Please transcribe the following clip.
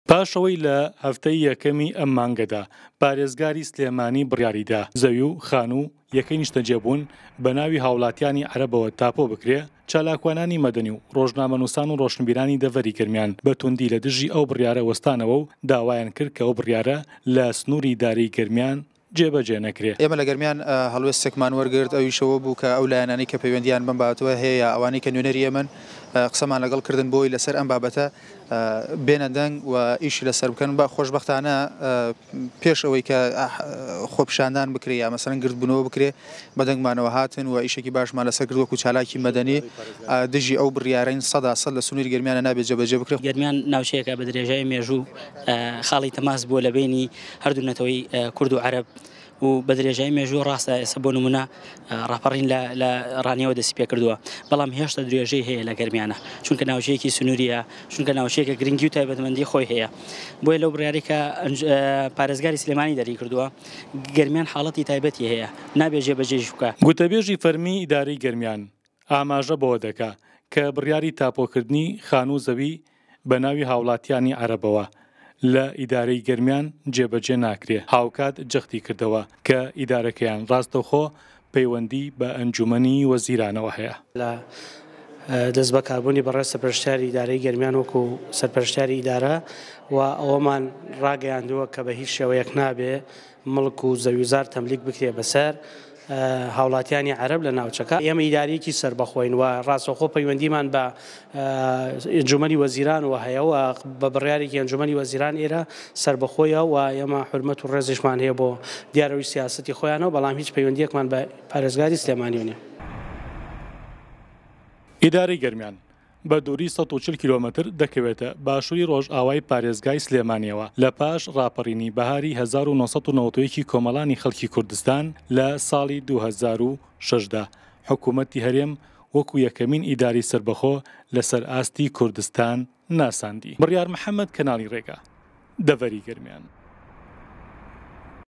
پاش ئەوەی لە هەفتەی یەکەمی ئەم مانگەدا پارێزگاری سلێمانی بڕیاریدا زەوی و خانوو یەکەی نیشتەجێبوون بە ناوی هاوڵاتیانی عەرەبەوە تاپۆ بکرێ، چالاکوانانی مەدەنی و ڕۆژنامەنووسان و ڕۆشنبیرانی دەڤەری گەرمیان بە توندی لە دژی ئەو بڕیارە وەستانەوە و داوایان کرد کە ئەو بڕیارە لە سنووری ئیدارەی گەرمیان جێبەجێ نەکرێ. ئێمە لە گەرمیان هەڵوێستێکمان وەرگرت، ئەویش ئەوە بوو کە ئەو لایەنانەی کە پەیوەندییان بەم بابەتەوە هەیە یا ئەوانەی کە نوێنەری ئێمەن قسەمان لەگەڵ کردن بۆی لەسەر ئەم بابەتە بێنە دەنگ و ئیشی لەسەر بکەن. بە خۆشبەختانە پێش ئەوەی کە خۆپیشاندان بکرێ یا مەسەلەن گردبوونەوە بکرێ بە دەنگمانەوە هاتن و ئیشێکی باشمان لەسەر کرد وەکو چالاکی مەدەنی دژی ئەو بڕیارەین سەدا سەد لە سنووری گەرمیانە نابێت جێبەجێ بکرێت. گەرمیان ناوچەیەکە بە درێژای مێژوو خاڵی تەماس بووە لە بەینی هەردوو نەتەوەی کورد و عەرەب و بە درێژای مێژوو ڕاستە ئێستا بۆ نمونە ڕاپەڕین لە لە ڕانیەوە دەستی پێکردووە بەڵام هێشتا درێژەی هەیە لە گەرمیانە چونکە ناوچەیەکی سنووریە چونکە ناوچەیەکە گرنگی و تایبەتمەندی خۆی هەیە بۆیە لەو بڕیارەی کە پارێزگاری سلێمانی دەری کردووە گەرمیان حاڵەتی تایبەتی هەیە نابێ جێبەجێیش بکا. گوتەبێژی فەرمی ئیدارەی گەرمیان ئاماژە بەوە دەکا کە بڕیاری تاپۆکردنی خانوو و زەوی بە ناوی هاوڵاتیانی عەرەبەوە لە ئیدارەی گەرمیان جێبەجێ ناکرێ، هاوکات جەختی کردەوە کە ئیدارەکەیان ڕاستەوخۆ پەیوەندی بە ئەنجومەنی وەزیرانەوە هەیە. لە دەستبەکاربوونی بەڕێز سەرپەرشتیاری ئیدارەی گەرمیان وەکو سەرپەرشتیاری ئیدارە و ئەوەمان ڕاگەیاندووە کە بە هیچ شێوەیەک نابێ مڵک و زەویوزار تەملیک بکرێ بەسەر هاوڵاتیانی عەرەب لە ناوچەکە. ئێمە ئیدارەیەکی سەربەخۆین و ڕاستەوخۆ پەیوەندیمان بە ئەنجومەنی وەزیرانەوە هەیە و بە بڕیارێکی ئەنجومەنی وەزیران ئێرە سەربەخۆیە و ئێمە حورمەت و ڕێزیشمان هەیە بۆ دیارەوەی سیاسەتی خۆیانەوە، بەڵام هیچ پەیوەندییەکمان بە پارێزگاری سلێمانیەوە نییە. ئیدارەی گەرمیان بە دووری 140 کیلۆمەتر دەکەوێتە باشووری ڕۆژئاوای پارێزگای سلێمانییەوە، لە پاش ڕاپەڕینی بەهاری 1991 ی کۆمەڵانی خەڵکی کوردستان لە ساڵی 2006 دا حکوومەتی هەرێم وەکو یەکەمین ئیدارەی سەربەخۆ لەسەر ئاستی کوردستان ناساندی. بڕیار محەمەد، کەناڵی ڕێگا، دەڤەری گەرمیان.